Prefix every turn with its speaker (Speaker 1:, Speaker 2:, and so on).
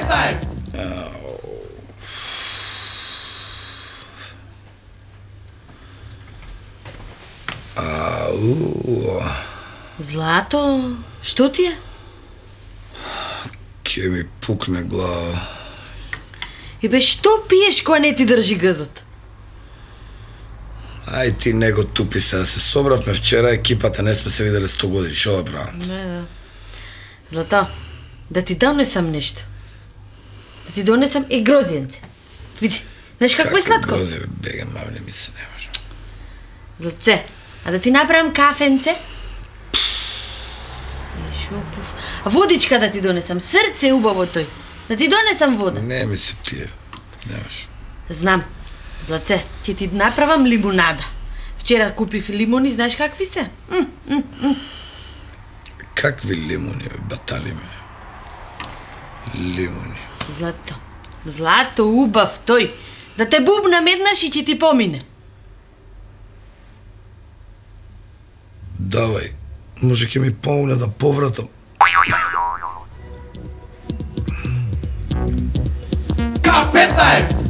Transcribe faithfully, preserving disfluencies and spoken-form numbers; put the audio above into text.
Speaker 1: Капетаец!
Speaker 2: Ау.
Speaker 3: Злато, што ти е?
Speaker 2: Ке ми пукне глава.
Speaker 3: И бе, што пиеш кога не ти држи гъзот?
Speaker 2: Ај ти не го тупи се, да се собравме вчера, екипата не сме се видели сто години, шо да правам?
Speaker 3: Не, да. Злато, да ти донесам нешто. Да ти донесам и грозиенце. Види, знаеш какво е сладко?
Speaker 2: Како грози, бега, мавне ми се не може.
Speaker 3: Златце, а да ти направам кафенце? Е, шо пуф. А водичка да ти донесам, срце убаво тој. Да ти донесам вода.
Speaker 2: Не ми се пие, немаш.
Speaker 3: Знам. Златце, ќе ти направам лимунада. Вчера купив лимони, знаеш какви се? М, м, м.
Speaker 2: Какви лимони, бе, батали ме. Лимони.
Speaker 3: Злато, злато убав тој. Да те бубнам еднаш и ќе ти помине.
Speaker 2: Давај, може ќе ми помогне да повратам.
Speaker 1: Капетаец!